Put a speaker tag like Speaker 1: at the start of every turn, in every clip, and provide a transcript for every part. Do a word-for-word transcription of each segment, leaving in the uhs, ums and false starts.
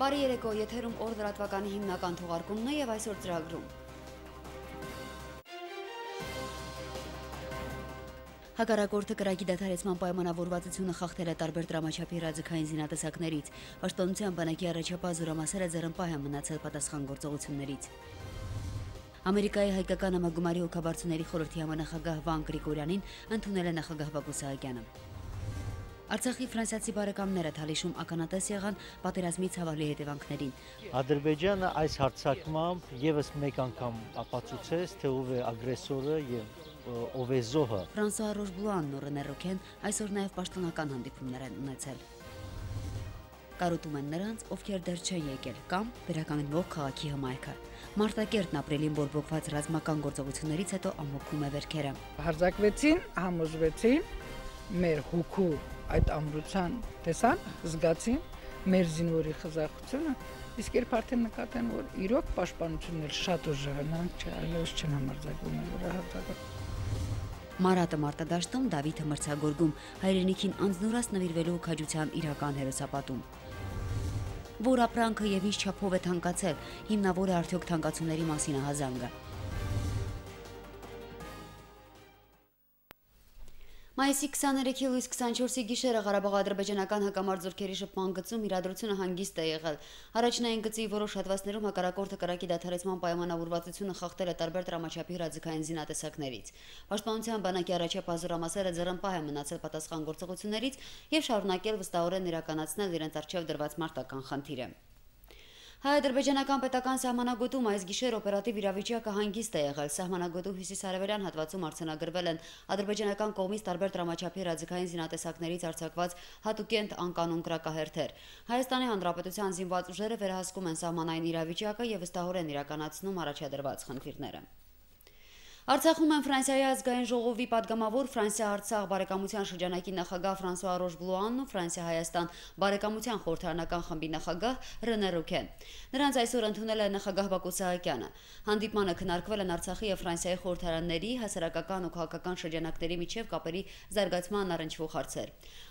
Speaker 1: Բարի երեկո, եթերում օր լրատվականի հիմնական թողարկումն է եւ այսօր ծրագրում։ Հակառակորդը կրակի դադարեցման պայմանավորվածությունը խախտել է տարբեր դրամաչափի հրաձգային զինատեսակներից։ Պաշտպանության բանակի առաջապահ զորամասերը ձեռնպահ են մնացել պատասխան գործողություններից։ Ամերիկայի հայկական համագումարի հոգաբարձուների խորհրդի համանախագահ Վան Գրիգորյանին ընդունել է նախագահ Բակո Սահակյանը։ Արցախի ֆրանսիացի բարեկամները Թալիշում ականատես եղան պատերազմի ցավալի հետևանքներին։
Speaker 2: Ադրբեջանը այս հարձակմամբ եւս մեկ անգամ ապացուցեց, թե ով է ագրեսորը եւ ով է զոհը։
Speaker 1: Ֆրանսուଆ Ռոժբլուանն ու Ռենե Ռոքեն այսօր նաեւ պաշտոնական հանդիպումներ են ունեցել։ Կարոտում են նրանց, ովքեր դեռ չեն եկել կամ վերականգնվող քաղաքի հմայքը։ Մարտակերտն ապրիլին բորբոքված ռազմական գործողություններից հետո ամոքում է վերքերը։
Speaker 3: Հարձակվեցին, համոզվեցին, մեր հոգու այդ ամրության տեսան, զգացին մեր զինվորի խզախությունը, իսկ երբ արդեն նկատեն, որ իրոք պաշտպանությունն էլ շատ ուժեղ է, նրանք այլևս չեն համարձակվում վրա հարձակել։
Speaker 1: Մարատը մարտադաշտում Դավիթը մրցագորգում հայրենիքին անձնուրաց նվիրվելու քաջության իրական հերոսապատում։ Որ ապրանքը եւ ինչ չափով է թանկացել, հիմնավոր է արդյոք թանկացումների մասին ահազանգը։ Մայիսի քսաներեքի լույս քսանչորսի գիշերը Ղարաբաղ-ադրբեջանական հակամարտ զորքերի շփման գծում իրադրությունը հանգիստ է եղել։ Առաջնային գծի որոշ հատվածներում հակառակորդը կրակի դադարեցման պայմանավորվածությունը խախտել է տարբեր դրամաչափի հրաձգային զինատեսակներից։ Պաշտպանության բանակի առաջապահ զորամասերը ձեռնպահ են մնացել պատասխան գործողություններից եւ շարունակել վստահորեն իրականացնել իրենց առջեւ դրված մարտական խնդիրը։ Հայ-ադրբեջանական պետական սահմանագոտում այս գիշեր օպերատիվ իրավիճակը հանգիստ է եղել։ Սահմանագոտու հյուսիսարևելյան հատվածում արձանագրվել են ադրբեջանական կողմից տարբեր դրամաչափի հրաձգային զինատեսակներից արձակված հատուկենտ անկանոն կրակահերթեր։ Հայաստանի Հանրապետության զինված ուժերը վերահսկում են սահմանային իրավիճակը եւ վստահորեն իրականացնում առաջադրված խնդիրները։ Արցախում են Ֆրանսիայի ազգային ժողովի падգամավոր Ֆրանսիա-Արցախ բարեկամության շրջանակի նախագահ Ֆրանսուଆ Ռոժբլուանն ու Ֆրանսիա-Հայաստան բարեկամության խորհրդարանական խմբի նախագահ Ռենե Ռոքեն։ Նրանց այսօր ընդունել է նախագահ Բակո Սահակյանը։ Հանդիպմանը քննարկվել են Արցախի եւ Ֆրանսիայի խորհրդարանների, հասարակական ու քաղաքական շրջանակների միջև կապերի զարգացման առնչվող հարցեր։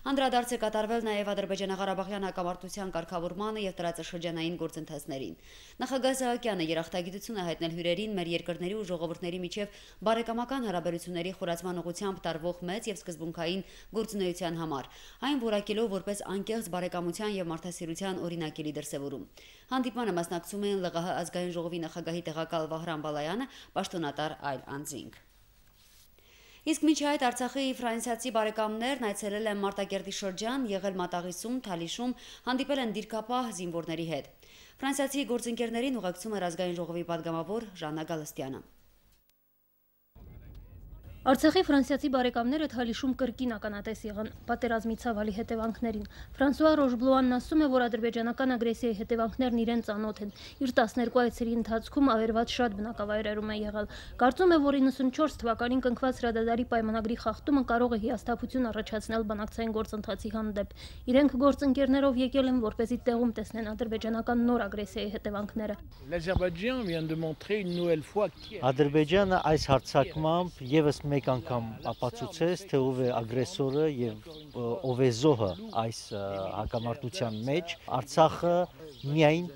Speaker 1: Անդրադարձ է կատարվել նաեւ Ադրբեջանա-Ղարաբաղյան հակամարտության կարգավորմանը եւ տարածաշրջանային գործընթացներին։ Նախագահ Սահակյանը երախտագիտություն է հայտնել հյուրերին մեր երկրների ու ժողովուրդների միջև բարեկամական հարաբերությունների խորացման ուղղությամբ տարվող մեծ եւ սկզբունքային գործունեության համար, այն որակելով որպես անկեղծ բարեկամության եւ մարդասիրության օրինակելի դրսեւորում։ Հանդիպմանը մասնակցում էին ԼՂՀ ազգային ժողովի նախագահի տեղակալ Վահրամ Բալայանը, պաշտոնատար այլ անձինք։ Իսկ մինչ այդ Արցախի ֆրանսիացի բարեկամներն այցելել են Մարտակերտի շրջան, եղել Մատաղիսում, Թալիշում, հանդիպել են դիրքապահ զինվորների հետ։ Ֆրանսիացի գործընկերներին ուղեկցում էր ազգային ժողովի падգամավոր Ժաննա Գալստյանը։
Speaker 4: Արցախի ֆրանսիացի բարեկամները Թալիշում կրկին ականատես եղան պատերազմի ցավալի հետևանքներին։ Ֆրանսուଆ Ռոժբլուանն ասում է, որ ադրբեջանական ագրեսիայի հետևանքներն իրեն ծանոթ են։ Իր տասներկու այցերի ընթացքում ավերված շատ բնակավայրերում է եղել։ Կարծում է, որ իննսունչորս թվականին կնքված հրադադարի պայմանագրի խախտումը կարող է հիասթափություն առաջացնել բանակցային գործընթացի հանդեպ։ Իրենք գործընկերներով եկել են, որպեսզի տեղում տեսնեն ադրբեջանական նոր ագրեսիայի հետևանքները։
Speaker 2: Ադրբեջանը այս հարձակմամբ եւս մեկ անգամ ապացուցեց, թե ով է ագրեսորը եւ ով է զոհը այս հակամարտության մեջ։ Արցախը միայն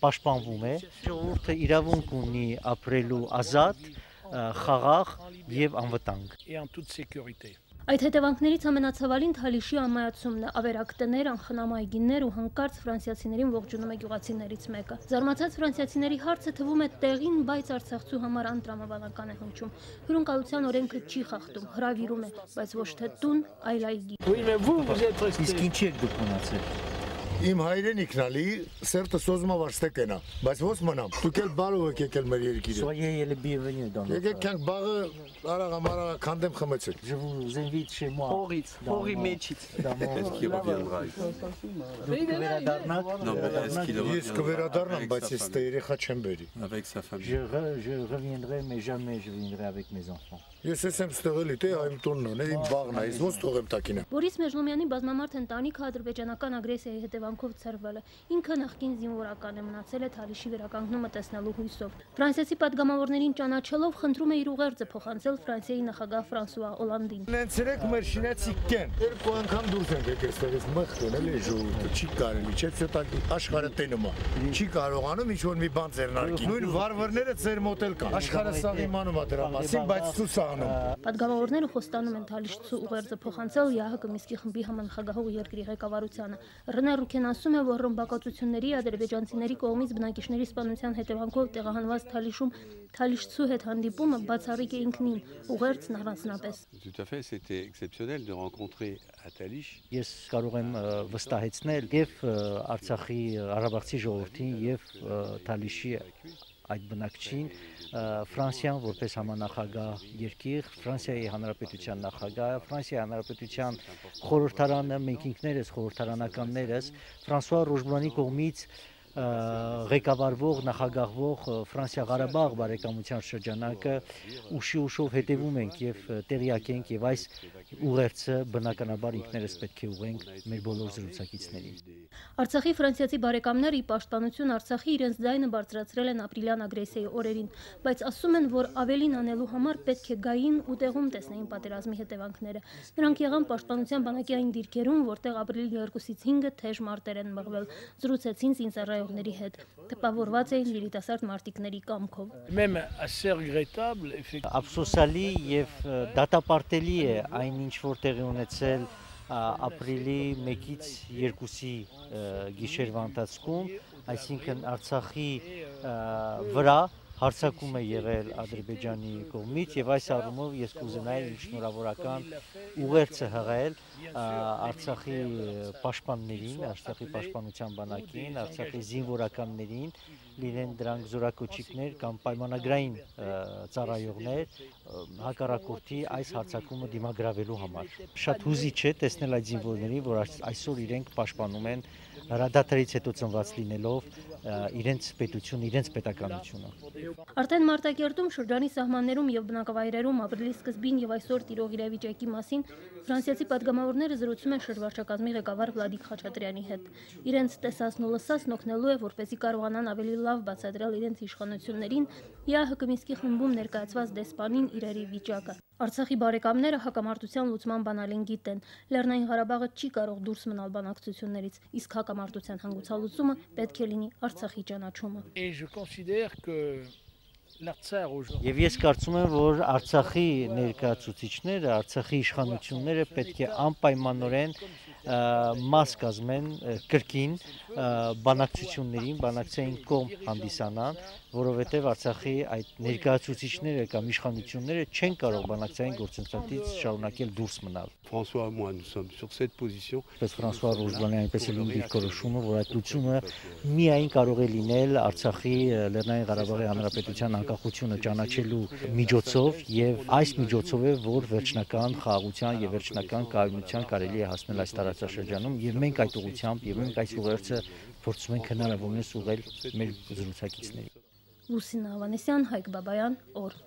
Speaker 2: պաշտպանվում է, ժողովուրդը իրավունք ունի ապրելու ազատ, խաղաղ եւ անվտանգ։
Speaker 4: Այդ հետևանքներից ամենացավալին Թալիշի ամայացումն է, ավերակ տներ, անխնամ այգիներ ու հանկարծ ֆրանսիացիներին ողջունում է գյուղացիներից մեկը։ Զարմացած ֆրանսիացիների հարցը թվում է տեղին, բայց արցախցու համար անտրամաբանական է հնչում։ Հյուրընկալության օրենքը չի խախտում, հրավիրում է, բայց ոչ թե տուն, այլ այգի։
Speaker 2: Իսկ ինչի եք դուք մնացել։
Speaker 5: Իմ հայրենիքն ալի սերտը սոզումա վարստեկենա, բայց ոնց մնամ։ Դուք էլ բարով եք եկել մեր երկիրը։
Speaker 2: Soyez bienvenue dans notre.
Speaker 5: Եկեք քանք բաղը արագ ամարագ քանդեմ խմեցեք։
Speaker 2: Je vous invite chez moi.
Speaker 6: Հողից, հողի մեջից։
Speaker 7: Est-ce qu'il reviendra ici? Non, mais est-ce qu'il
Speaker 5: Ես կվերադառնամ, բայց ես տե երեխա չեմ բերի։
Speaker 7: avec sa famille?
Speaker 2: Je, re, je reviendrai, mais jamais je viendrai avec mes enfants.
Speaker 5: Ես ես եմ ստեղելի, թե այմ տունն է, իմ բաղն է, ես ոնց թողեմ տակինը։
Speaker 4: Բորիս Մեժլոմյանի բազմամարդ ընտանիքը ադրբեջանական ագրեսիայի հետևանքով հետևանքով ցրվել է։ Ինքը նախկին զինվորական է, մնացել է Թալիշի վերականգնումը տեսնելու հույսով։ Ֆրանսիացի падգամավորներին ճանաչելով խնդրում է իր ուղերձը փոխանցել Ֆրանսիայի նախագահ Ֆրանսուଆ Օլանդին։
Speaker 5: Նենցրեք մեր շինեցիկ կեն։ Երկու անգամ դուրս ենք եկել ստեղից մխտեն, էլի ժողովուրդը չի կարելի, չէ՞ ցետակ աշխարհը տենում է։ Չի կարողանում ինչ որ մի բան ձեռնարկի։ Նույն վարվարները ձեր մոտ էլ կան։ Աշխարհը սա իմանում է դրա մասին, բայց ցույց անում։
Speaker 4: Падգամավորները խոստանում են Թալիշցու ուղերձը փոխանցել ՀՀԿ Միսկի խմբի համանախագահող երկրի ղեկավարությանը։ Ռնե Ռուքեն ասում է, որ ռմբակոծությունների ադրբեջանցիների կողմից բնակիչների սպանության հետևանքով տեղահանված Թալիշում Թալիշցու հետ հանդիպումը բացառիկ է ինքնին, ուղերձն առանձնապես։
Speaker 7: Tout à fait, c'était exceptionnel de rencontrer à Talish.
Speaker 2: Ես կարող եմ վստահեցնել եւ Արցախի Ղարաբաղցի ժողովրդին եւ Թալիշի այդ բնակչին Ֆրանսիան որպես համանախագահ երկիր, Ֆրանսիայի Հանրապետության նախագահ, Ֆրանսիայի Հանրապետության խորհրդարանը, մենք ինքներս խորհրդարանականներս Ֆրանսուଆ Ռոժբլանի կողմից ղեկավարվող նախագահվող Ֆրանսիա-Ղարաբաղ բարեկամության շրջանակը ուշի ուշով հետևում ենք եւ տեղյակ ենք եւ այս ուղերձը բնականաբար ինքներս պետք է ուղենք մեր բոլոր զրուցակիցներին։
Speaker 4: Արցախի ֆրանսիացի բարեկամները ի պաշտպանություն Արցախի իրենց ձայնը բարձրացրել են ապրիլյան ագրեսիայի օրերին, բայց ասում են, որ ավելին անելու համար պետք է գային ու տեղում տեսնեին պատերազմի հետևանքները։ Նրանք եղան պաշտպանության բանակի այն դիրքերում, որտեղ ապրիլի երկուսից հինգը թեժ մարտեր են մղվել, զրուցեցին զինծառայողների հետ, տպավորված էին երիտասարդ մարտիկների կամքով։
Speaker 2: Ափսոսալի եւ դատապարտելի է այն ինչ որ տեղի ունեցել ապրիլի մեկից երկուսի գիշերվա ընթացքում, այսինքն Արցախի վրա հարձակում է եղել Ադրբեջանի կողմից եւ այս առումով ես կուզենայի իմ շնորհավորական ուղերձը հղել Արցախի պաշտպաններին, Արցախի պաշտպանության բանակին, Արցախի զինվորականներին, լինեն դրանք զորակոչիկներ կամ պայմանագրային ծառայողներ հակառակորդի այս հարձակումը դիմագրավելու համար։ Շատ հուզիչ է տեսնել այդ զինվորներին, որ այսօր իրենք պաշտպանում են հրադադարից հետո ծնված լինելով իրենց պետություն, իրենց պետականությունը։
Speaker 4: Արդեն Մարտակերտում շրջանի սահմաններում եւ բնակավայրերում ապրիլի սկզբին եւ այսօր տիրող իրավիճակի մասին ֆրանսիացի падգամավորները զրուցում են շրջվարչակազմի ղեկավար Վլադիկ Խաչատրյանի հետ։ Իրենց տեսածն ու լսածն օգնելու է, որպեսզի կարողանան ավելի լավ բացատրել իրենց իշխանություններին ՀՀԿ Միսկի խմբում ներկայացված դեսպանին իրերի վիճակը։ Արցախի բարեկամները հակամարտության լուծման բանալին գիտեն։ Լեռնային Ղարաբաղը չի կարող դուրս մնալ բանակցություններից, իսկ հակամարտության հանգուցալուծումը պետք է լինի Արցախի ճանաչումը։
Speaker 2: Եվ ես կարծում եմ, որ Արցախի ներկայացուցիչները, Արցախի իշխանությունները պետք է անպայմանորեն մաս կազմեն կրկին բանակցություններին, բանակցային կողմ հանդիսանան, որովհետև Արցախի այդ ներկայացուցիչները կամ իշխանությունները չեն կարող բանակցային գործընթացից շարունակել դուրս մնալ։
Speaker 7: François et moi, nous sommes sur cette position.
Speaker 2: Պես Ֆրանսուଆ Ռոժբլանի այնպես էլ դիրքորոշումը, որ այդ լուծումը միայն կարող է լինել Արցախի Լեռնային Ղարաբաղի Հանրապետության անկախությունը ճանաչելու միջոցով եւ այս միջոցով է, որ վերջնական խաղաղության եւ վերջնական կայունության կարելի է հասնել այս տարածաշրջանում եւ մենք այդ ուղղությամբ եւ մենք այս ուղերձը փորձում ենք հնարավորինս ուղղել մեր զրուցակիցներին։
Speaker 4: Լուսինա Ավանեսյան, Հայկ Բաբայան, օր։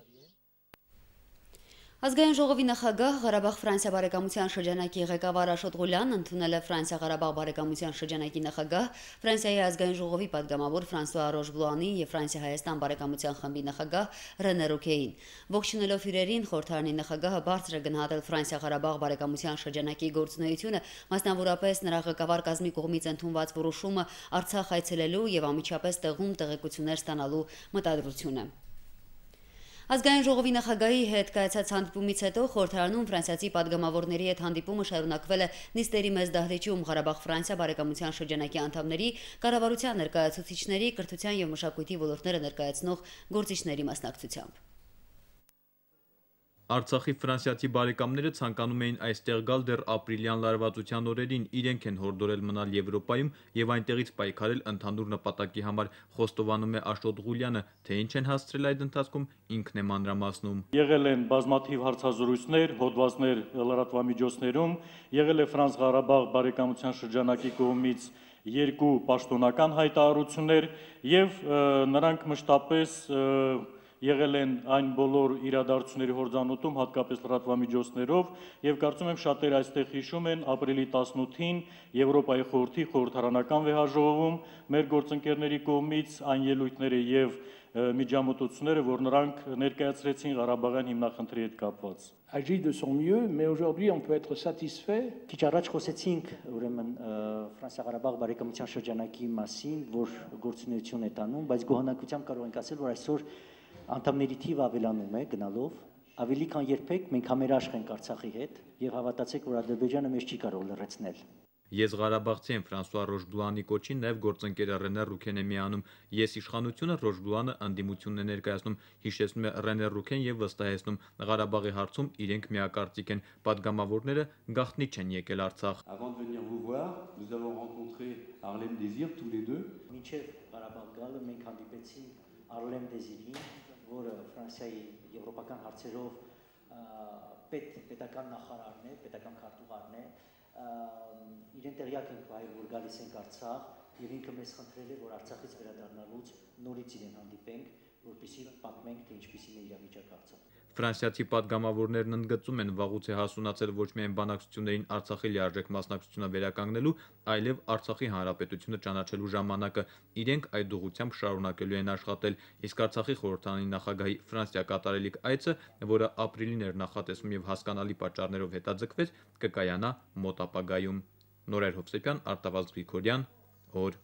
Speaker 1: Ազգային ժողովի նախագահ Ղարաբաղ-Ֆրանսիա բարեկամության շրջանակի ղեկավար Աշոտ Ղուլյանն ընդունել է Ֆրանսիա-Ղարաբաղ բարեկամության շրջանակի նախագահ, Ֆրանսիայի ազգային ժողովի падգամավոր Ֆրանսուଆ Ռոժբլուանի եւ Ֆրանսիա-Հայաստան բարեկամության խմբի նախագահ Ռենե Ռուքեին։ Ողջունելով իրերին, խորհրդարանի նախագահը բարձր է գնահատել Ֆրանսիա-Ղարաբաղ բարեկամության շրջանակի գործունեությունը, մասնավորապես նրա ղեկավար կազմի կողմից ընդունված որոշումը Արցախ այցելելու եւ անմիջապես տեղում տեղեկություններ ստանալու մտադրությունը։ Ազգային ժողովի նախագահի հետ կայացած հանդիպումից հետո խորհրդարանում ֆրանսիացի падգամավորների հետ հանդիպումը շարունակվել է նիստերի մեծ դահլիճում Ղարաբաղ-Ֆրանսիա բարեկամության շրջանակի անդամների, կառավարության ներկայացուցիչների, կրթության եւ մշակույթի ոլորտները ներկայացնող գործիչների մասնակցությամբ։
Speaker 6: Արցախի ֆրանսիացի բարեկամները ցանկանում էին այստեղ գալ դեռ ապրիլյան լարվածության օրերին, իրենք են հորդորել մնալ Եվրոպայում եւ այնտեղից պայքարել ընդհանուր նպատակի համար, խոստովանում է Աշոտ Ղուլյանը, թե ինչ են հասցրել այդ ընթացքում ինքն է մանրամասնում։
Speaker 8: Եղել են բազմաթիվ հարցազրույցներ, հոդվածներ լրատվամիջոցներում, եղել է Ֆրանս-Ղարաբաղ բարեկամության շրջանակի կողմից երկու պաշտոնական հայտարարություններ եւ նրանք մշտապես եղել են այն բոլոր իրադարձությունների հորձանուտում, հատկապես լրատվամիջոցներով, եւ կարծում եմ շատերը այստեղ հիշում են ապրիլի տասնութին Եվրոպայի խորհրդի խորհրդարանական վեհաժողովում մեր գործընկերների կողմից այն ելույթները եւ միջամտությունները, որ նրանք ներկայացրեցին Ղարաբաղյան հիմնախնդրի հետ կապված։
Speaker 9: Agit de son mieux, mais aujourd'hui on peut être satisfait.
Speaker 10: Քիչ առաջ խոսեցինք ուրեմն Ֆրանսիա-Ղարաբաղ բարեկամության շրջանակի մասին, որ գործունեություն է տանում, բայց գոհնակությամբ կարող ենք ասել, որ այսօր անդամների թիվը ավելանում է գնալով, ավելի քան երբեք մենք համերաշխ ենք Արցախի հետ եւ հավատացեք, որ Ադրբեջանը մեզ չի կարող լրացնել։
Speaker 6: Ես Ղարաբաղցի եմ Ֆրանսուଆ Ռոշբլուանի կոչին, նաև գործընկերը Ռենե Ռուքեն է միանում։ Ես իշխանությունը Ռոշբլուանը անդիմությունն է ներկայացնում, հիշեցնում է Ռենե Ռուքեն եւ վստահեցնում Ղարաբաղի հարցում իրենք միակարծիք են, падգամավորները գաղտնի չեն եկել Արցախ։
Speaker 7: Avant de venir vous voir, nous avons rencontré Arlem Désir tous les deux.
Speaker 10: Մինչև Ղարաբաղ գալը մենք հանդիպեցինք Արլեմ Դեզիրին, որը Ֆրանսիայի եվրոպական հարցերով պետ պետական նախարարն է, պետական քարտուղարն է։ Իրեն տեղյակ ենք վայել, որ գալիս ենք Արցախ եւ ինքը մեզ խնդրել է, որ Արցախից վերադառնալուց նորից իրեն հանդիպենք, որպեսզի պատմենք, թե ինչպիսին է իրավիճակը Արցախում։
Speaker 6: Ֆրանսիացի падգամավորներն ընդգծում են, վաղուց է հասունացել ոչ միայն բանակցություններին Արցախի լիարժեք մասնակցությունը վերականգնելու, այլև Արցախի հանրապետությունը ճանաչելու ժամանակը։ Իրենք այդ ուղղությամբ շարունակելու են աշխատել, իսկ Արցախի խորհրդարանի նախագահի Ֆրանսիա կատարելիք այցը, որը ապրիլին էր նախատեսվում եւ հասկանալի պատճառներով հետաձգվեց, կկայանա մոտ ապագայում։ Նորեր Հովսեփյան, Արտավազդ Գրիգորյան, օր։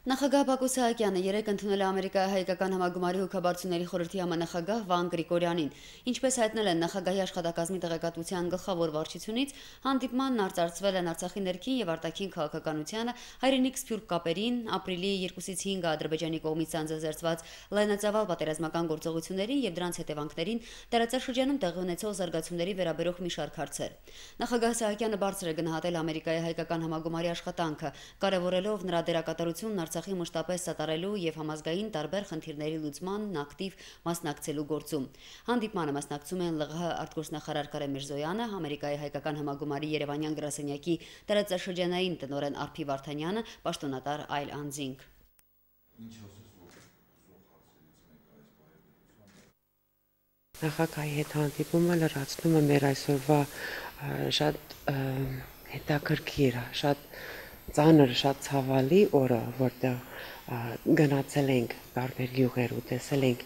Speaker 1: Նախագահ Բակո Սահակյանը երեկ ընդունել է Ամերիկայի հայկական համագումարի հոգաբարձությունների խորհրդի համանախագահ Վան Գրիգորյանին։ Ինչպես հայտնել են նախագահի աշխատակազմի տեղեկատվության գլխավոր վարչությունից, հանդիպմանն արծարծվել են Արցախի ներքին եւ արտաքին քաղաքականությանը, հայրենիք սփյուռք կապերին, ապրիլի երկուսից հինգը Ադրբեջանի կողմից անձնազերծված լայնածավալ պատերազմական գործողություններին եւ դրանց հետևանքներին, տարածաշրջանում տեղի ունեցող զարգացումների վերաբերող մի շարք հարցեր։ Նախագահ Սահակյանը բարձր է գնահատել Ամերիկայի հայկական համագումարի աշխատանքը, կարևորելով նրա դերակատարությունն Արցախի մշտապես սատարելու եւ համազգային տարբեր խնդիրների լուծմանն ակտիվ մասնակցելու գործում։ Հանդիպմանը մասնակցում են ԼՂՀ արտգործնախարար Կարեն Միրզոյանը, Ամերիկայի հայկական համագումարի Երևանյան գրասենյակի տարածաշրջանային տնօրեն Արփի Վարդանյանը, պաշտոնատար այլ անձինք։
Speaker 11: Նախագահի հետ հանդիպումը լրացնում է մեր այսօրվա շատ հետաքրքիր, շատ ծանր, շատ ցավալի օրը, որտեղ գնացել ենք տարբեր գյուղեր ու տեսել ենք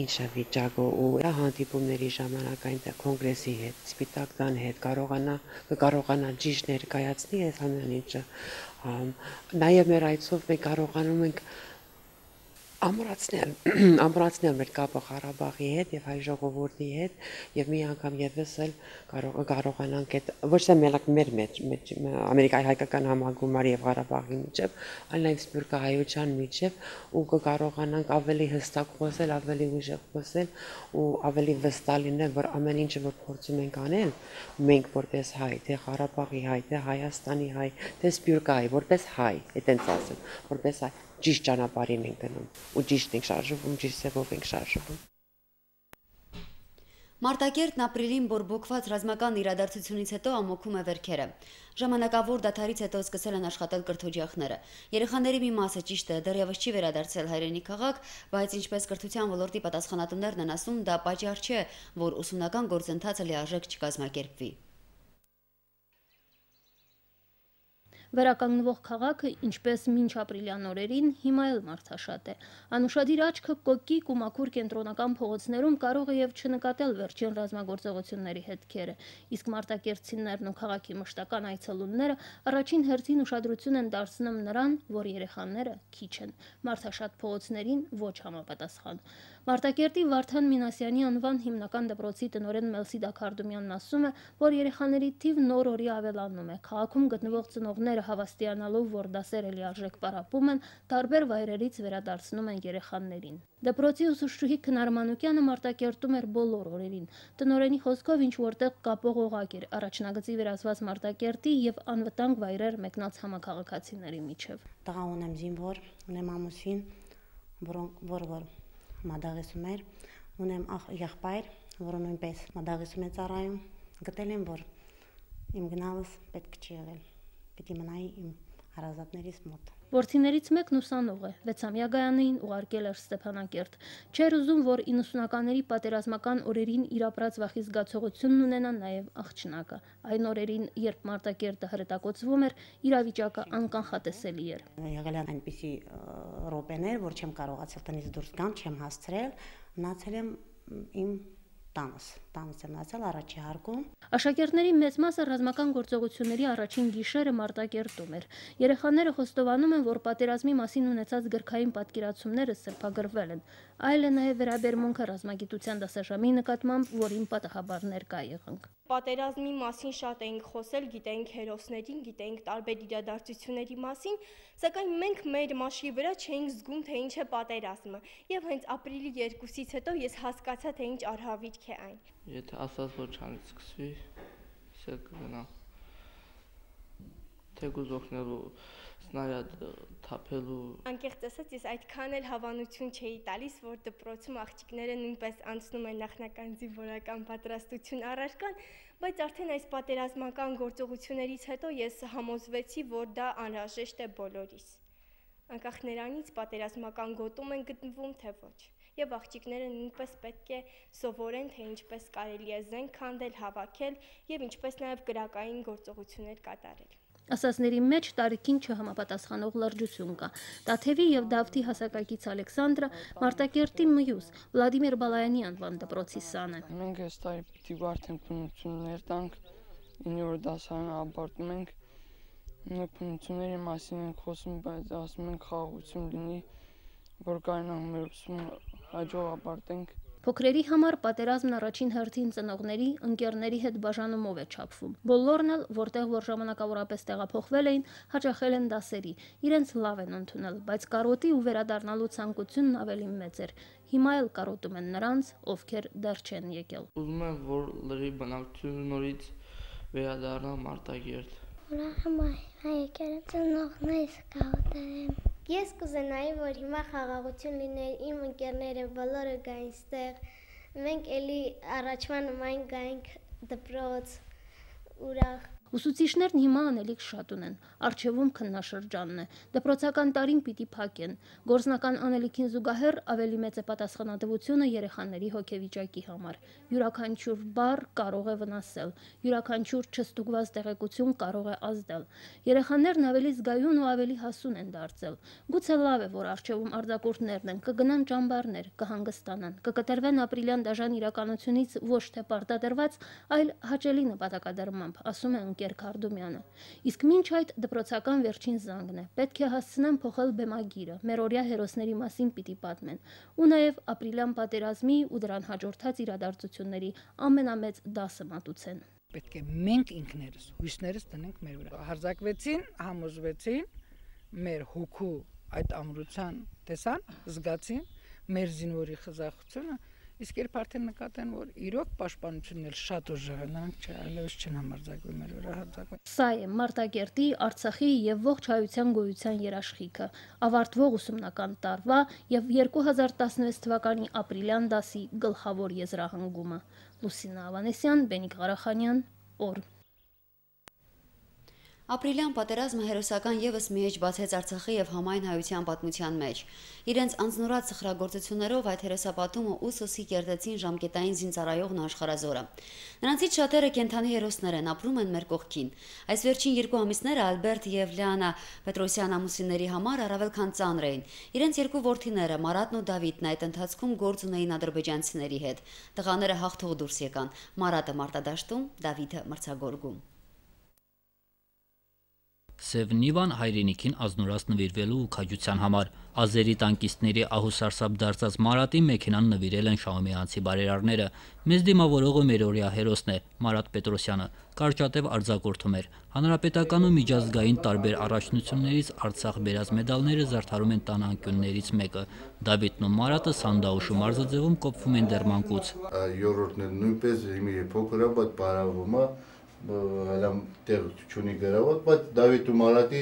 Speaker 11: ինչ է վիճակը ու հանդիպումների ժամանակ այնտեղ կոնգրեսի հետ, Սպիտակ տան հետ կարողանա կարողանա ճիշտ ներկայացնի այս ամեն ինչը։ Նաև մեր այցով մենք կարողանում ենք ամրացնել, ամրացնել մեր կապը Ղարաբաղի հետ եւ հայ ժողովրդի հետ եւ մի անգամ եւս էլ կարողանանք այդ ոչ թե մենակ մեր մեջ Ամերիկայի հայկական համագումարի եւ Ղարաբաղի միջեւ, այլ նաեւ սփյուռքահայության միջեւ ու կարողանանք ավելի հստակ խոսել, ավելի ուժեղ խոսել ու ավելի վստահ լինել, որ ամեն ինչը որ փորձում ենք անել, մենք որպես հայ, թե Ղարաբաղի հայ, թե Հայաստանի հայ, թե սփյուռքահայ, որպես հայ, այտենց ասեմ, որպես հայ ճիշտ ճանապարհին ենք գնում ու ճիշտ ենք շարժվում, ճիշտ ձևով ենք շարժվում։
Speaker 1: Մարտակերտն ապրիլին բորբոքված ռազմական իրադարձությունից հետո ամոքում է վերքերը։ Ժամանակավոր դադարից հետո սկսել են աշխատել կրթօջախները։ Երեխաների մի մասը ճիշտ է դեռևս չի վերադարձել հայրենի քաղաք, բայց ինչպես կրթության ոլորտի պատասխանատուներն են ասում, դա պատճառ չէ, որ ուսումնական գործընթացը լիարժեք չկազմակերպվի։
Speaker 4: Վերականգնվող քաղաքը, ինչպես մինչ ապրիլյան օրերին, հիմա էլ մարդաշատ է։ Անուշադիր աչքը կոկիկ ու մաքուր կենտրոնական փողոցներում կարող է եւ չնկատել վերջին ռազմագործողությունների հետքերը, իսկ մարտակերտցիներն ու քաղաքի մշտական այցելունները առաջին հերթին ուշադրություն են դարձնում նրան, որ երեխաները քիչ են, մարդաշատ փողոցներին ոչ համապատասխան։ Մարտակերտի Վարդան Մինասյանի անվան հիմնական դպրոցի տնօրեն Մելսիդա Քարդումյանն ասում է, որ երեխաների թիվն օր-օրի ավելանում է։ Քաղաքում գտնվող ծնողները հավաստիանալով, որ դասերը լիարժեք պարապում են, տարբեր վայրերից վերադարձնում են երեխաներին։ Դպրոցի ուսուցչուհի Քնար Մանուկյանը Մարտակերտում էր բոլոր օրերին։ Տնօրենի խոսքով ինչ որտեղ կապող օղակ էր առաջնագծի վերածված Մարտակերտի եւ անվտանգ վայրեր մեկնած համակարգացիների միջև։
Speaker 12: Տղա ունեմ զինվոր, ունեմ ամուսին, որ որ մադաղեսում էր, ունեմ եղբայր, որը նույնպես մադաղեսում է ծառայում, գտել եմ, որ իմ գնալս պետք չի եղել, պետք է մնայի իմ հարազատներիս մոտ։
Speaker 4: Որդիներից մեկն ուսանող է, վեցամյա Գայանին ուղարկել էր Ստեփանակերտ։ Չէր ուզում, որ իննսունականների պատերազմական օրերին իր ապրած վախի զգացողությունն ունենա նաև աղջնակը։ Այն օրերին, երբ Մարտակերտը հրետակոծվում էր, իրավիճակը անկանխատեսելի էր։
Speaker 12: Եղել են այնպիսի րոպեներ, որ չեմ կարողացել տնից դուրս գամ, չեմ հասցրել, մնացել եմ իմ տանս, տանս եմ մնացել առաջի հարկում։
Speaker 4: Աշակերտների մեծ մասը ռազմական գործողությունների առաջին գիշերը Մարտակերտում էր։ Երեխաները խոստովանում են, որ պատերազմի մասին ունեցած գրքային պատկերացումները սրբագրվել են, այլ է նաև վերաբերմունքը ռազմագիտության դասաժամի նկատմամբ, որին պատահաբար ներկա եղանք։
Speaker 13: Պատերազմի մասին շատ էինք խոսել, գիտեինք հերոսներին, գիտեինք տարբեր իրադարձությունների մասին, սակայն մենք մեր մաշկի վրա չէինք զգում, թե ինչ է պատերազմը, եւ հենց ապրիլի երկուսից հետո ես հասկացա, թե ինչ արհավիրք է այն։
Speaker 14: Եթե ասած որ չանցկսվի, սա կգնա։ Թեկուզ օգնելու սնարյադ թափելու։
Speaker 13: Անկեղծ ասած, ես այդքան էլ հավանություն չէի տալիս, որ դպրոցում աղջիկները նույնպես անցնում են նախնական զինվորական պատրաստություն առարկան, բայց արդեն այս պատերազմական գործողություններից հետո ես համոզվեցի, որ դա անհրաժեշտ է բոլորիս։ Անկախ նրանից պատերազմական գոտում են գտնվում, թե ոչ։ Եվ աղջիկները նույնպես պետք է սովորեն, թե ինչպես կարելի է զենք քանդել, հավաքել եւ ինչպես նաեւ գրակային գործողություններ կատարել։
Speaker 4: Ասածների մեջ տարիքին չհամապատասխանող լրջություն կա։ Տաթևի եւ Դավթի հասակակից Ալեքսանդրը Մարտակերտի մյուս Վլադիմիր Բալայանի անվան դպրոցի սան է։
Speaker 14: Մենք այս տարի պիտի արդեն փնություններ տանք, ինը դասարանը ավարտում ենք։ Մենք փնությունների մասին ենք խոսում, բայց ասում ենք խաղաղություն լինի, որ կարողանանք մեր ուսումը հաջող ավարտենք։
Speaker 4: Փոքրերի համար պատերազմն առաջին հերթին ծնողների, ընկերների հետ բաժանումով է չափվում։ Բոլորն էլ, որտեղ որ ժամանակավորապես տեղափոխվել էին, հաճախել են դասերի, իրենց լավ են ընդունել, բայց կարոտի ու վերադառնալու ցանկությունն ավելի մեծ էր։ Հիմա էլ կարոտում են նրանց, ովքեր դեռ չեն եկել։
Speaker 14: Ուզում եմ, որ լրի բնակչությունը նորից վերադառնա Մարտակերտ։
Speaker 15: Ուրախ եմ եկել ծնողներս կարոտեմ։ Ես կուզենայի, որ հիմա խաղաղություն լիներ, իմ ընկերները բոլորը գային ստեղ, մենք էլի առաջվա նման գայինք դպրոց, ուրախ։
Speaker 4: Ուսուցիչներն հիմա անելիք շատ ունեն, առջևում քննաշրջանն է, դպրոցական տարին պիտի փակեն, գործնական անելիքին զուգահեռ ավելի մեծ է պատասխանատվությունը երեխաների հոգեվիճակի համար, յուրաքանչյուր բառ կարող է վնասել, յուրաքանչյուր չստուգված տեղեկություն կարող է ազդել, երեխաներն ավելի զգայուն ու ավելի հասուն են դարձել, գուցե լավ է, որ առջևում արձակուրդներն են, կգնան ճամբարներ, կհանգստանան, կկտրվեն ապրիլյան դաժան իրականությունից ոչ թե պարտադրված, այլ հաճելի նպատակադրմամբ, ասում է Գեր Քարդումյանը։ Իսկ մինչ այդ դպրոցական վերջին զանգն է։ Պետք է հասցնեն փոխել բեմագիրը, մերօրյա հերոսների մասին պիտի պատմեն, ու նաև ապրիլյան պատերազմի ու դրան հաջորդած իրադարձությունների ամենամեծ դասը մատուցեն։
Speaker 3: Պետք է մենք ինքներս հույսներս տնենք մեր վրա։ Հարձակվեցին, համոզվեցին, մեր հոգու այդ ամրության տեսան, զգացին մեր զինվորի խզախությունը։ Իսկ երբ արդեն նկատեն, որ իրոք պաշտպանությունն էլ շատ ուժեղ է, նրանք այլևս չեն համարձակվում մեր վրա հարձակվել։
Speaker 4: Սա է Մարտակերտի, Արցախի եւ ողջ հայության գոյության երաշխիքը, ավարտվող ուսումնական տարվա եւ երկու հազար տասնվեց թվականի ապրիլյան դասի գլխավոր եզրահանգումը։ Լուսինա Ավանեսյան, Բենիկ Ղարախանյան, օր։
Speaker 1: Ապրիլյան պատերազմը հերոսական ևս մի էջ բացեց Արցախի եւ համայն հայության պատմության մեջ։ Իրենց անձնուրաց սխրագործություններով այդ հերոսապատումը ուսոսի կերտեցին ժամկետային զինծառայողն աշխարհազորը։ Նրանցից շատերը կենթանի հերոսներ են, ապրում են մեր կողքին։ Այս վերջին երկու ամիսները Ալբերտ եւ Լիանա Պետրոսյան ամուսինների համար առավել քան ծանր էին։ Իրենց երկու որդիները Մարատն ու Դավիթն այդ ընթացքում գործ ունեին ադրբեջանցիների հետ։ Տղաները հաղթող դուրս եկան։ Մարատը մարտադաշտում, Դավիթը մրցագորգում։
Speaker 16: Սև Նիվան հայրենիքին ազնուրաց նվիրվելու ու քաջության համար ազերի տանկիստների ահուսարսափ դարձած Մարատի մեքենան նվիրել են շահումյանցի բարերարները։ Մեզ դիմավորողը մերօրյա հերոսն է Մարատ Պետրոսյանը, կարճատև արձակորդում էր։ Հանրապետական ու միջազգային տարբեր առաջնություններից Արցախ բերած մեդալները զարդարում են տան անկյուններից մեկը։ Դավիթն ու Մարատը Սանդաուշու մարզաձևում կոփվում են դեռ մանկուց։
Speaker 5: Յորրորդն էլ նույնպես իմի փոքր է, բայց բարավում է։ Հələ տեղ չունի գրաված, բայց Դավիթ ու Մարատի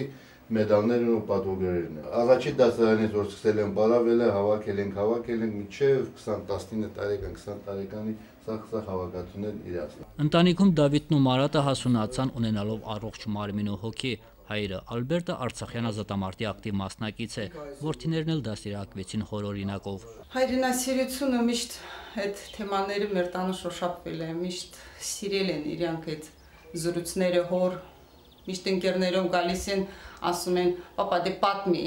Speaker 5: մեդալներն ու պատվոգերերն են։ Առաջի դասարանից որ սկսել են բարավել, հավաքել ենք, հավաքել ենք մինչև քսան տասնինը տարեկան, քսան տարեկանի սա հավաքածուներ իրացան։
Speaker 16: Ընտանիքում Դավիթն ու Մարատը հասունացան ունենալով առողջ մարմին ու հոգի։ Հայրը Ալբերտը Արցախյան ազատամարտի ակտիվ մասնակից է, որդիներն էլ դաստիարակվեցին հորօրինակով։
Speaker 17: Հայրենասիրությունը միշտ այդ թեմաները մեր տանը շոշափվել է, միշտ սիրել են իրանք այդ զրույցները հոր, միշտ ընկերներով գալիս են, ասում են, պապա դե պատմի։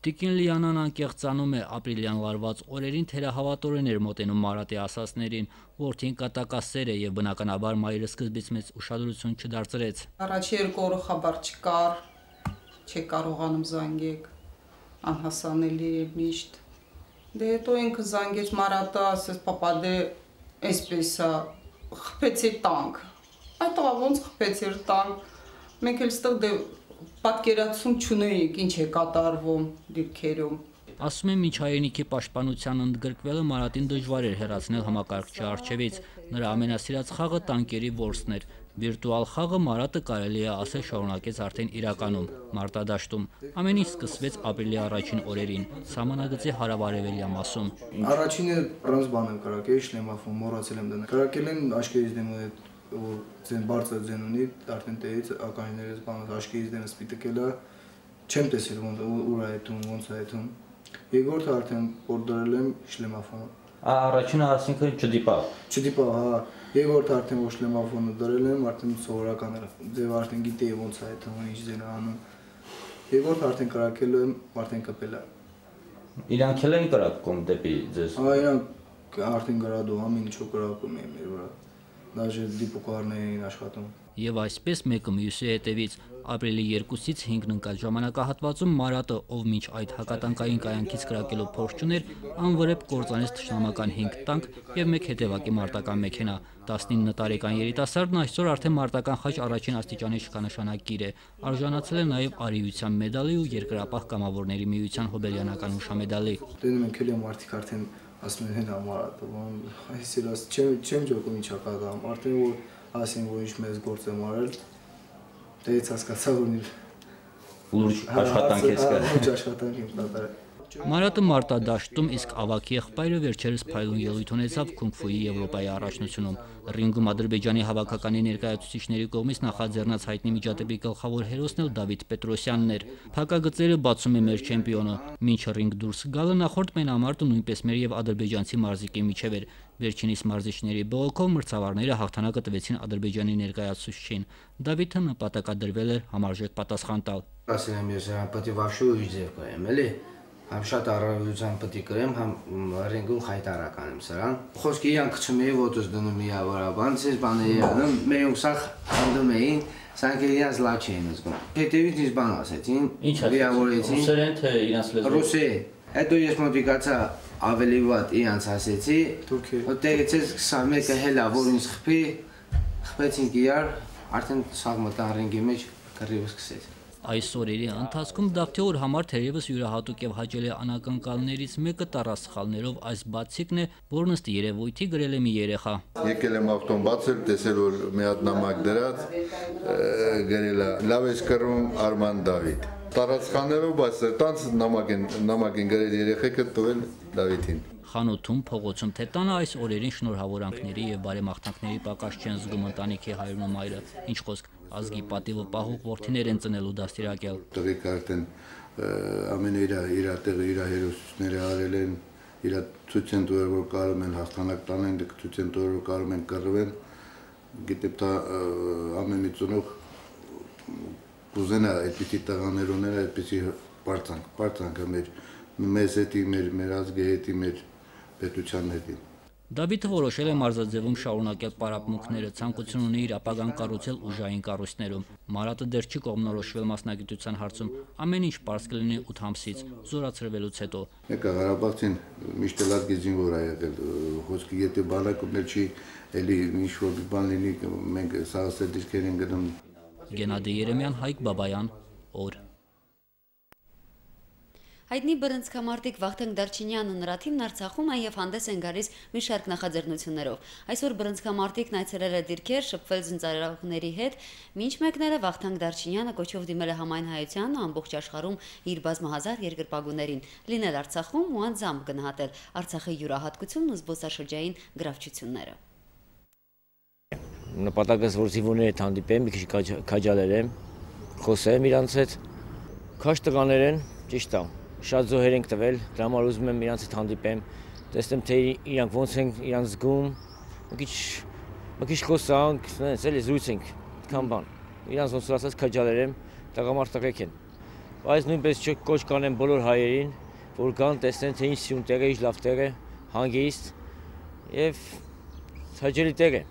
Speaker 16: Տիկին Լիանան անկեղծանում է ապրիլյան լարված օրերին թերահավատորեն էր մոտենում Մարատի ասածներին, որդին կատակասեր է եւ բնականաբար մայրը սկզբից մեծ ուշադրություն չդարձրեց։
Speaker 17: Առաջի երկու օրը խաբար չկար, չի կարողանում զանգեք, անհասանելի է միշտ։ Դե հետո ինքը զանգեց Մարատը, ասեց պապա դե այսպես է, խփեցի տանկ։ Այդ տղա ոնց խփեցի տանկ։ Մենք էլ ստեղ դե պատկերացում չունեինք, ինչ է կատարվում դիրքերում։
Speaker 16: Ասում է միջ հայրենիքի պաշտպանության ընդգրկվելը Մարատին դժվար էր հեռացնել համակարգչի առջևից։ Նրա ամենասիրած խաղը տանկերի որսն էր։ Վիրտուալ խաղը Մարատը կարելի է ասել շարունակեց արդեն իրականում, մարտադաշտում։ Ամեն ինչ սկսվեց ապրիլի առաջին օրերին, սահմանագծի հարավարևելյան մասում։
Speaker 18: Առաջինը առանց բան եմ կրակել, շլեմաֆոն, մոռացել եմ դնել։ Կրակել են աշկերից դեմ ու ձեն բարձր ձեն ունի, արդեն տեղից ականջներից բանը աշկերից դեմը սպիտակելա, չեմ տեսել ոնց ուր է այդում, ոնց է այդում։ Երկրորդը արդեն որդրել եմ շլեմաֆոն։
Speaker 16: Առաջինը ասինքն չդիպավ։
Speaker 18: Չդիպավ, հա։ Երկրորդը արդեն որ շլեմաֆոնը դրել եմ, արդեն սովորական էր։ Ձև արդեն գիտեի ոնց է այդում, ինչ ձեն անում։ Երկրորդը արդեն կրակել եմ, արդեն կպել է։
Speaker 16: Իրանք էլ են կրակում դեպի ձեզ։
Speaker 18: Հա, իրանք արդեն գրադու ամեն ինչը կրակում են մեր վրա։ Դաժե դիպուկարներ էին աշխատում։
Speaker 16: Եվ այսպես մեկը մյուսի հետևից ապրիլի երկուսից հինգն ընկած ժամանակահատվածում Մարատը, ով մինչ այդ հակատանկային կայանքից կրակելով փորձ չուներ, անվրեպ կործանեց թշնամական հինգ տանկ եւ մեկ հետևակի մարտական մեքենա։ տասնինը տարեկան երիտասարդն այսօր արդեն մարտական խաչ առաջին աստիճանի շքանշանակիր է, արժանացել է նաեւ արիության մեդալի ու երկրապահ կամավորների միության հոբելյանական հուշամեդալի։
Speaker 18: Տենում են քելի մարդիկ արդեն ասում են հենա Մարատը, այսինքն չեմ չեմ ջոկում ինչա կատարում, արդեն որ ասին որ ինչ մեծ գործ եմ արել, դից հասկացա որ
Speaker 16: լուրջ աշխատանք ես կա։
Speaker 18: Լուրջ աշխատանք եմ կատարել։
Speaker 16: Մարատը մարտադաշտում, իսկ ավագ եղբայրը վերջերս փայլուն ելույթ ունեցավ քունգ-ֆուի Եվրոպայի առաջնությունում։ Ռինգում Ադրբեջանի հավաքականի ներկայացուցիչների կողմից նախաձեռնած հայտնի միջադեպի գլխավոր հերոսն էլ Դավիթ Պետրոսյանն էր։ Փակագծերը բացում է մեր չեմպիոնը։ Մինչ ռինգ դուրս գալը նախորդ մենամարտը նույնպես մեր եւ ադրբեջանցի մարզիկի միջև էր։ Վերջինիս մարզիչների բողոքով մրցավարները հաղթանակը տվեցին Ադրբեջանի ներկայացուցչին։ Դավիթը նպատակադրվել էր համարժեք պատասխան տալ։
Speaker 19: Ասել եմ ես պետք է վաշու իջև կայեմ, էլի։ Համ շատ առավելության պետք է կրեմ, համ ռինգում խայտարական եմ սրան։ Խոսքի իրանք քչում էի ոտոս դնում միավորաբան, ցես բաների անում, մեր ուսախ հանդում էին, սրանք իրանց լավ չէին զգում։ Հետևից ինձ բան ասեցին, միավորեցին։ Ռուսերեն թե իրանց լեզվով։ Ռուսերեն։ Հետո ես մոտիկացա ավելի վատ իրանց ասեցի, որտեղից ես քսանմեկը հելա որ ինձ խփի, խփեցինք իրար, արդեն սաղ մտան ռինգի մեջ կռիվը սկսեց։
Speaker 16: Այս օրերի ընթացքում Դավթեոր համար թերևս յուրահատուկ եւ հաճելի անակնկալներից մեկը տառասխալներով այս բացիկն է, որն ըստ երևույթի գրել է մի երեխա։
Speaker 5: Եկել եմ ավտոն բացել, տեսել որ մի հատ նամակ դրած, գրել է լավ ես կռվում Արման Դավիթ։ Տառասխալներով բայց տանց նամակ են նամակ են գրել երեխեքը տվել Դավիթին։
Speaker 16: Խանութում, փողոցում թե տանը այս օրերին շնորհավորանքների եւ բարեմաղթանքների պակաս չեն զգում ընտանիքի հայրն ու մայրը, ինչ խոսք ազգի պատիվը պահող որդիներ են ծնելու դաստիարակել։
Speaker 5: Տղիկ արդեն ամեն իր իր տեղը իր հերոսները արել են, իր ցույց են տվել որ կարող են հաղթանակ տանեն, ցույց են տվել որ կարող են կռվել։ Գիտեմ դա ամեն մի ծնող կուզենա այդպիսի տղաներ ունել, այդպիսի բարձանք, բարձանքը մեր մեզ հետի, մեր մեր ազգի հետի, մեր պետության հետի։
Speaker 16: Դավիթը որոշել է մարզաձևում շարունակել պարապմունքները, ցանկություն ունի իր ապագան կառուցել ուժային կառույցներում։ Մարատը դեռ չի կողմնորոշվել մասնագիտության հարցում, ամեն ինչ պարզ կլինի ութ ամսից, զորացրվելուց հետո։
Speaker 5: Եկա Ղարաբաղցին միշտ լավ գիզին որ ա եղել, խոսքի եթե բանակումներ չի, էլի ինչ որ բան լինի, մենք սաղասեր դիրքեր են գնում։
Speaker 16: Գենադի Երեմյան, Հայկ Բաբայան, օր։
Speaker 1: Հայտնի բռնցքամարտիկ Վախթանգ Դարչինյանն ու նրա թիմն Արցախում են եւ հանդես են գալիս մի շարք նախաձեռնություններով։ Այսօր բռնցքամարտիկն այցելել է դիրքեր, շփվել զինծառայողների հետ, մինչ մեկները Վախթանգ Դարչինյանը կոչով դիմել է համայն հայությանն ու ամբողջ աշխարհում իր բազմահազար երկրպագուներին, լինել Արցախում ու անձամբ գնահատել Արցախի յուրահատկությունն ու զբոսաշրջային գրավչությունները։
Speaker 20: Նպատակս որ զինվորները հանդիպեմ, մի քիչ քաջալերեմ, խոսեմ իրանց հետ։ Քաշ տղաներ են, ճիշտ է, շատ զոհեր ենք տվել, դրա համար ուզում եմ իրանց հետ հանդիպեմ, տեսնեմ թե իրանք ոնց են իրանք զգում, մի քիչ մի քիչ խոսանք, նենց էլի զրույցենք, քան բան։ Իրանց ոնց որ ասած քաջալեր եմ, տղամարդ տղեկ են։ Բայց նույնպես կոչ կանեմ բոլոր հայերին, որ գան տեսնեն թե ինչ սյուն տեղ է, ինչ լավ տեղ է, հանգիստ եւ հաճելի տեղ է։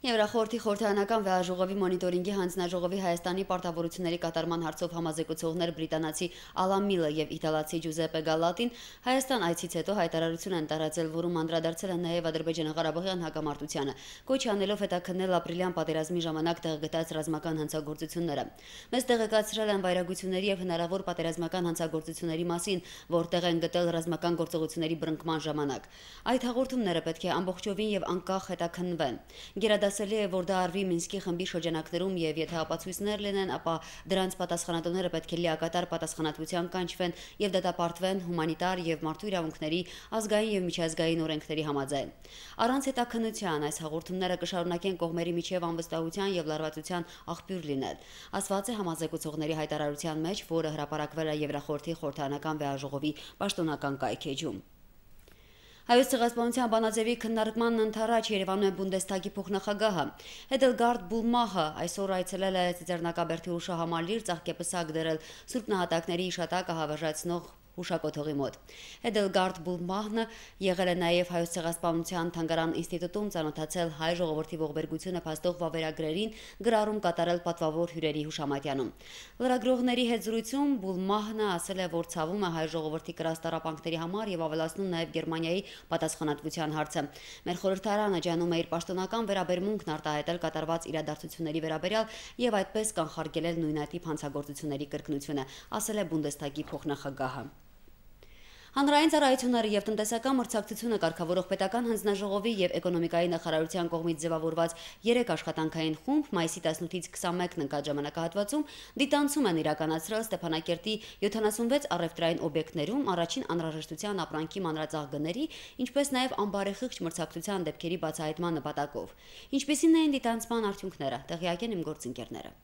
Speaker 1: Եվրախորհրդի խորհրդարանական վեհաժողովի մոնիտորինգի հանձնաժողովի Հայաստանի պարտավորությունների կատարման հարցով համազեկուցողներ բրիտանացի Ալան Միլը եւ իտալացի Ջուզեպե Գալատին Հայաստան այցից հետո հայտարարություն են տարածել, որում անդրադարձել են նաեւ Ադրբեջանա-Ղարաբաղյան հակամարտությանը, կոչ անելով հետաքննել ապրիլյան պատերազմի ժամանակ տեղգտած ռազմական հանցագործությունները։ Մեզ տեղեկացրել են վայրագությունների եւ հնարավոր պատերազմական հանցագործությունների մասին, որտեղ են գտել ռազմական գործողությունների բռնկման ժամանակ։ Այդ հաղորդումները պետք է ամբողջովին եւ անկախ հետաքննվեն։ Ասելի է, որ դա արվի Մինսկի խմբի շրջանակներում եւ եթե ապացույցներ լինեն, ապա դրանց պատասխանատուները պետք է լիակատար պատասխանատվության կանչվեն եւ դատապարտվեն հումանիտար եւ մարդու իրավունքների, ազգային եւ միջազգային օրենքների համաձայն։ Առանց հետաքննության այս հաղորդումները կշարունակեն կողմերի միջև անվստահության եւ լարվածության աղբյուր լինել, ասված է համազեկուցողների հայտարարության մեջ, որը հրապարակվել է Եվրախորհրդի խորհրդարանական վեհաժողովի պաշտոնական կայքեջում։ Հայոց ցեղասպանության բանաձևի քննարկման ընթരാճ Երևանում է Բունդեսթագի փոխնախագահը։ Էդելգարդ Բուլմահը այսօր այցելել է Ծիծեռնակաբերդի հուշահամալիր ծաղկեպսակ դրել Սուրբ Նահատակների իշատակը հավերժացնող հուշակոթողի մոտ։ Էդելգարդ Բուլմահը եղել է նաև Հայոց ցեղասպանության թանգարան ինստիտուտում, ծանոթացել հայ ժողովրդի ողբերգությունը փաստող վավերագրերին, գրառում կատարել պատվավոր հյուրերի հուշամատյանում։ Լրագրողների հետ զրույցում Բուլմահը ասել է, որ ցավում է հայ ժողովրդի կրած տառապանքների համար եւ ավելացնում նաև Գերմանիայի պատասխանատվության հարցը։ Մեր խորհրդարանը ջանում է իր պաշտոնական վերաբերմունքն արտահայտել կատարված իրադարձությունների վերաբերյալ եւ այդպես կանխարգելել նույնատիպ հանցագործությունների կրկնությունը, ասել է Բունդեսթագի փոխնախագահը։ Հանրային ծառայությունները եւ տնտեսական մրցակցությունը կարգավորող պետական հանձնաժողովի եւ էկոնոմիկայի նախարարության կողմից ձևավորված երեք աշխատանքային խումբ մայիսի տասնութից քսանմեկն ընկած ժամանակահատվածում դիտանցում են իրականացրել Ստեփանակերտի յոթանասունվեց առևտրային օբյեկտներում առաջին անհրաժեշտության ապրանքի մանրածաղ գների, ինչպես նաեւ ամբարեխիղճ մրցակցության դեպքերի բացահայտման նպատակով։ Ինչպիսին էին դիտանցման արդյունքները, տեղյակ են իմ գործընկերները։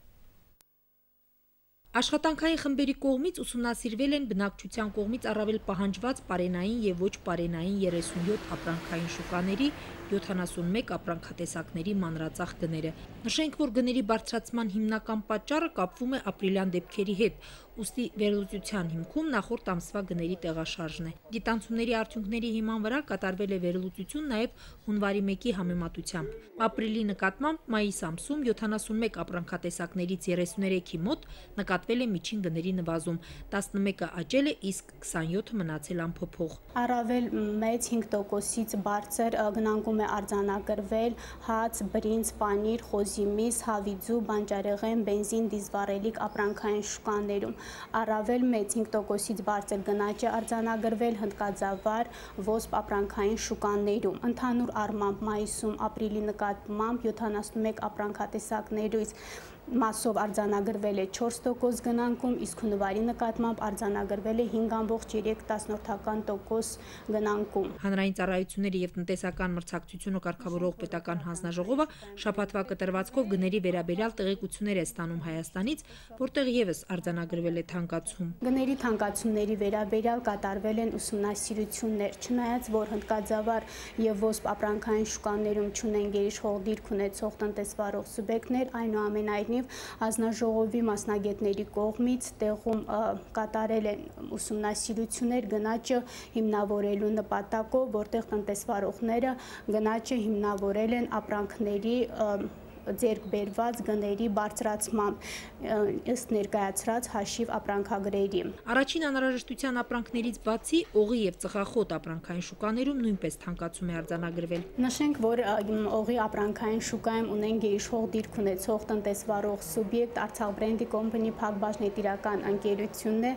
Speaker 21: Աշխատանքային խմբերի կողմից ուսումնասիրվել են բնակչության կողմից առավել պահանջված պարենային եւ ոչ պարենային երեսունյոթ ապրանքային շուկաների յոթանասունմեկ ապրանքատեսակների մանրածախ գները։ Նշենք, որ գների բարձրացման հիմնական պատճառը կապվում է ապրիլյան դեպքերի հետ, ուստի վերլուծության հիմքում նախորդ ամսվա գների տեղաշարժն է։ Դիտանցումների արդյունքների հիման վրա կատարվել է վերլուծություն նաեւ հունվարի մեկի համեմատությամբ։ Ապրիլի նկատմամբ մայիս ամսում յոթանասունմեկ ապրանքատեսակներից երեսուներեքի մոտ նկատվել է միջին գների նվազում, տասնմեկը աճել է, իսկ քսանյոթը մնացել անփոփոխ։
Speaker 22: Առավել մեծ հինգ տոկոսից բարձր գնանկում է արձանագրվել հաց, բրինձ, պանիր, խոզի միս, հավիձու, բանջարեղեն, բենզին, դիզվառելիք ապրանքային շուկաներում։ Առավել մեծ հինգ տոկոսից բարձր գնաճ է արձանագրվել հնդկաձավար, ոսպ ապրանքային շուկաներում։ Ընդհանուր առմամբ մայիսում ապրիլի նկատմամբ յոթանասունմեկ ապրանքատեսակներից մասով արձանագրվել է չորս տոկոս գնանկում, իսկ հունվարի նկատմամբ արձանագրվել է հինգ ամբողջ երեք տոկոս գնանկում։
Speaker 21: Հանրային ծառայությունների եւ տնտեսական մրցակցությունը կարգավորող պետական հանձնաժողովը շաբաթվա կտրվածքով գների վերաբերյալ տեղեկություններ է ստանում Հայաստանից, որտեղ եւս արձանագրվել է թանկացում։
Speaker 22: Գների թանկացումների վերաբերյալ կատարվել են ուսումնասիրություններ, չնայած որ հնդկաձավար եւ ոսպ ապրանքային շուկաներում չունեն գերիշխող դիրք ունեցող տնտեսվարող սուբյեկտներ, այնուամենայնիվ հանձնաժողովի մասնագետների կողմից տեղում կատարել են ուսումնասիրություններ գնաճը հիմնավորելու նպատակով, որտեղ տնտեսվարողները գնաճը հիմնավորել են ապրանքների ձեռք բերված գների բարձրացմամբ ըստ ներկայացրած հաշիվ ապրանքագրերի։
Speaker 21: Առաջին անհրաժեշտության ապրանքներից բացի օղի եւ ծխախոտ ապրանքային շուկաներում նույնպես թանկացում է արձանագրվել։
Speaker 22: Նշենք, որ օղի ապրանքային շուկայում ունեն գերիշխող դիրք ունեցող տնտեսվարող սուբյեկտ Արցախ բրենդի կոմպանի փակbaşնետիրական ընկերությունն է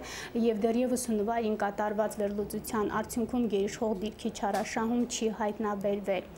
Speaker 22: եւ դեռևս հունվարին կատարված վերլուծության արդյունքում գերիշխող դիրքի չարաշահում չի հայտնաբերվել։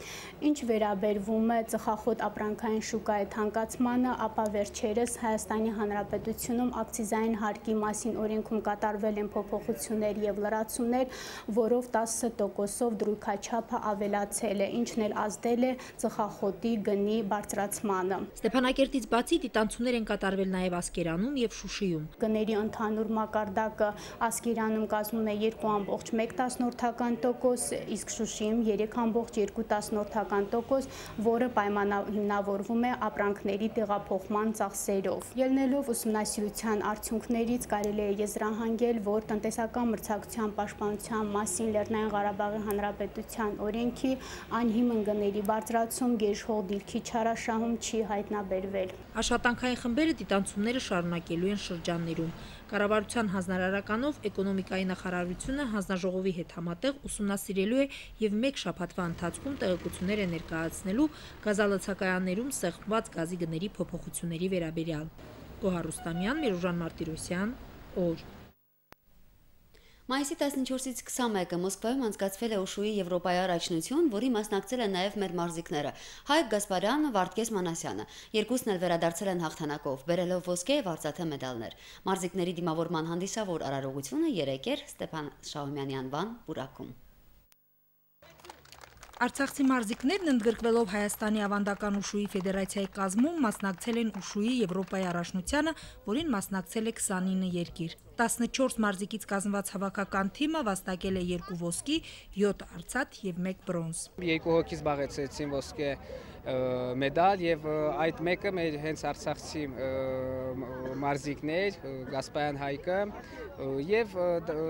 Speaker 22: Ինչ վերաբերվում է ծխախոտ ապրանքային շուկայի թանկացմանը, ապա վերջերս Հայաստանի Հանրապետությունում ակցիզային հարկի մասին օրենքում կատարվել են փոփոխություններ եւ լրացումներ, որով տասը տոկոսով դրույքաչափը ավելացել է, ինչն էլ ազդել է ծխախոտի գնի բարձրացմանը։
Speaker 21: Ստեփանակերտից բացի դիտանցումներ են կատարվել նաև Ասկերանում եւ Շուշիում։
Speaker 22: Գների ընդհանուր մակարդակը Ասկերանում կազմում է երկու ամբողջ մեկ տասնորդական տոկոս, իսկ Շուշիում երեք ամբողջ երկու տասնորդական տոկոս, որը պայմանավորվում է ապրանքների տեղափոխման ծախսերով։ Ելնելով ուսումնասիրության արդյունքներից կարելի է եզրահանգել, որ տնտեսական մրցակցության պաշտպանության մասին Լեռնային Ղարաբաղի Հանրապետության օրենքի անհիմն գների բարձրացում գերիշխող դիրքի չարաշահում չի հայտնաբերվել։
Speaker 21: Աշխատանքային խմբերը դիտանցումները շարունակելու են շրջաններում։ Կառավարության հանձնարարականով էկոնոմիկայի նախարարությունը հանձնաժողովի հետ համատեղ ուսումնասիրելու է եւ մեկ շաբաթվա ընթացքում տեղեկություններ է ներկայացնելու գազալցակայաններում սեղմված գազի գների փոփոխությունների վերաբերյալ։ Գոհար Ռուստամյան, Միրուժան Մարտիրոսյան, օր։
Speaker 1: Մայիսի տասնչորսից քսանմեկը Մոսկվայում անցկացվել է Ուշուի Եվրոպայի առաջնություն, որի մասնակցել են նաև մեր մարզիկները՝ Հայկ Գասպարյանը, Վարդգես Մանասյանը։ Երկուսն էլ վերադարձել են հաղթանակով, բերելով ոսկե եւ արծաթե մեդալներ։ Մարզիկների դիմավորման հանդիսավոր արարողությունը երեկ էր Ստեփան Շահումյանի անվան պուրակում։
Speaker 21: Արցախցի մարզիկներն ընդգրկվելով Հայաստանի ավանդական ուշուի ֆեդերացիայի կազմում մասնակցել են Ուշուի Եվրոպայի առաջնությանը, որին մասնակցել է քսանինը երկիր։ տասնչորս մարզիկից կազմված հավաքական թիմը վաստակել է երկու ոսկի, յոթ արծաթ եւ մեկ բրոնզ։
Speaker 2: Երկու հոգի զբաղեցրեցին ոսկե մեդալ եւ այդ մեկը մեր հենց արցախցի մարզիկներ Գասպարյան Հայկը եւ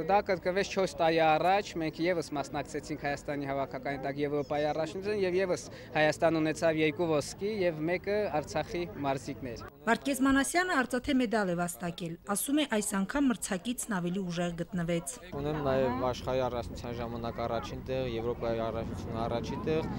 Speaker 2: դա կրկնվեց չորս տարի առաջ մենք եւս մասնակցեցինք Հայաստանի հավաքականի տակ Եվրոպայի առաջնության եւ եւս Հայաստան ունեցավ երկու ոսկի եւ մեկը Արցախի մարզիկներ։
Speaker 21: Վարդգես Մանասյանը արծաթե մեդալ է վաստակել, ասում է այս անգամ մրցակիցն ավելի ուժեղ գտնվեց։
Speaker 8: Ունեմ նաեւ աշխարհի առաջնության ժամանակ առաջին տեղ, Եվրոպայի առաջնության առաջին տեղ։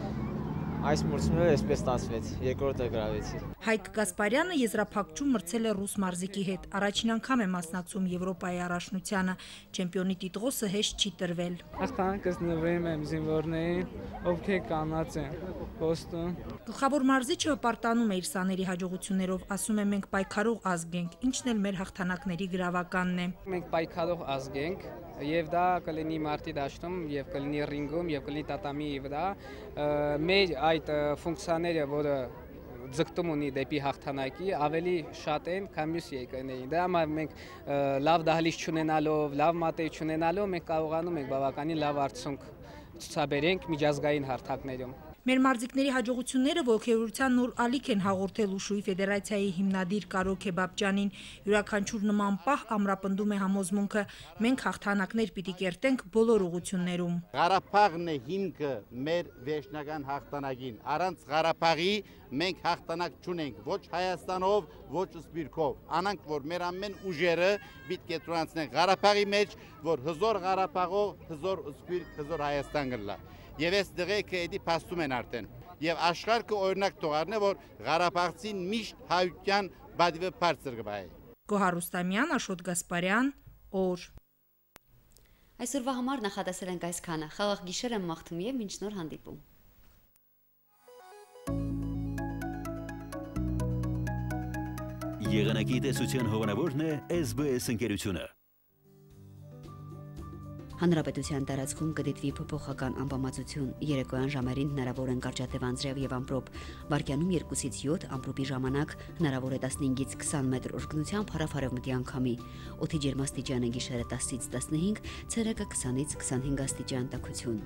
Speaker 8: Այս մրցումները այսպես ստացվեց, երկրորդը գրավեցի։
Speaker 21: Հայկ Գասպարյանը եզրափակչում մրցել է ռուս մարզիկի հետ։ Առաջին անգամ է մասնակցում Եվրոպայի առաջնությանը։ Չեմպիոնի տիտղոսը հեշտ չի տրվել։
Speaker 2: Հաղթանակս նվիրում եմ զինվորներին, ովքեր կանած են Բոստոն։
Speaker 21: Գլխավոր մարզիչը հպարտանում է իր սաների հաջողություններով, ասում է մենք պայքարող ազգ ենք, ինչն էլ մեր հաղթանակների գրավականն է։
Speaker 2: Մենք պայքարող ազգ ենք եւ դա կլինի մարտի դաշտում եւ կլինի ռինգում եւ կլինի տատամի վրա մեր այդ ֆունկցիաները, որը ձգտում ունի դեպի հաղթանակի, ավելի շատ են, քան մյուս երկրներին։ Դրա համար մենք լավ դահլիճ չունենալով, լավ մատեր չունենալով մենք կարողանում ենք բավականին լավ արդյունք ցուցաբերենք միջազգային հարթակներում։
Speaker 21: Մեր մարզիկների հաջողությունները ողջերության նոր ալիք են հաղորդել Ուշուի ֆեդերացիայի հիմնադիր Կարո Քեբաբջյանին։ Յուրաքանչյուր նման պահ ամրապնդում է համոզմունքը. մենք հաղթանակներ պիտի կերտենք բոլոր ուղություններում։
Speaker 23: Ղարաբաղն է հիմքը մեր վերջնական հաղթանակին։ Առանց Ղարաբաղի մենք հաղթանակ չունենք ոչ Հայաստանով, ոչ Սփյուռքով։ Անանք որ մեր ամեն ուժերը պիտի կենտրոնացնեն Ղարաբաղի մեջ, որ հզոր Ղարաբաղով, հզոր Սփյուռք, հզոր Հայաստան գլա։ Եվ այս դեղեկը էդի փաստում են արդեն։ Եվ աշխարհը օրինակ թողարն է, որ Ղարաբաղցին միշտ հայության բադիվը բարձր կբայ։
Speaker 21: Գոհար Ռուստամյան, Աշոտ Գասպարյան, օր։
Speaker 1: Այսօրվա համար նախատեսել ենք այսքանը։ Խաղաղ գիշեր եմ մաղթում եւ մինչ նոր հանդիպում։
Speaker 24: Եղանակի տեսության հովանավորն է S B S ընկերությունը։
Speaker 1: Հանրապետության տարածքում կդիտվի փոփոխական անբավարարություն, երեկոյան ժամերին հնարավոր են կարճատև անձրև եւ ամպրոպ, վարկյանում երկուսից յոթ, ամպրոպի ժամանակ հնարավոր է տասնհինգից քսան մետր ուժգնությամբ հարավ-արևմտի անկամի, օդի ջերմաստիճանը գիշերը տասից տասնհինգ, ցերեկը քսանից քսանհինգ աստիճան տաքություն։